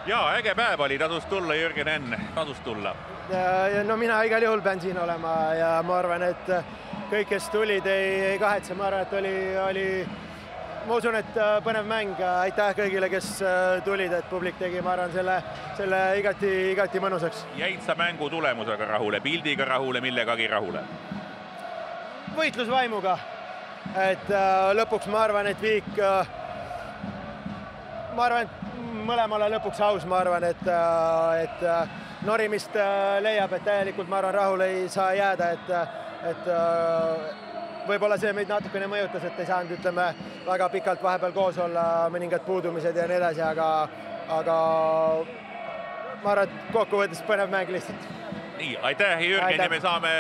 Jaa, äge päev oli, tasus tulla, Jürgen Enn, tasus tulla. No mina igal juhul pean siin olema ja ma arvan, et kõik, kes tulid, ei kahetse. Ma arvan, et ma usun, et põnev mäng. Aitäh kõigile, kes tulid, et publik tegi, ma arvan, selle igati mõnusaks. Jäid sa mängu tulemusega rahule, pildiga rahule, millegagi rahule? Võitlusvaimuga. Et lõpuks ma arvan, et Viik, mõlemale lõpuks aus, ma arvan, et norimist leiab, et täielikult, ma arvan, rahule ei saa jääda, et võib-olla see meid natukene mõjutas, et ei saanud, ütleme, väga pikalt vahepeal koos olla, mõningad puudumised ja nii edasi, aga ma arvan, et kokkuvõttes põnev mäng lihtsalt. Nii, aitäh, Jürgen, ja me saame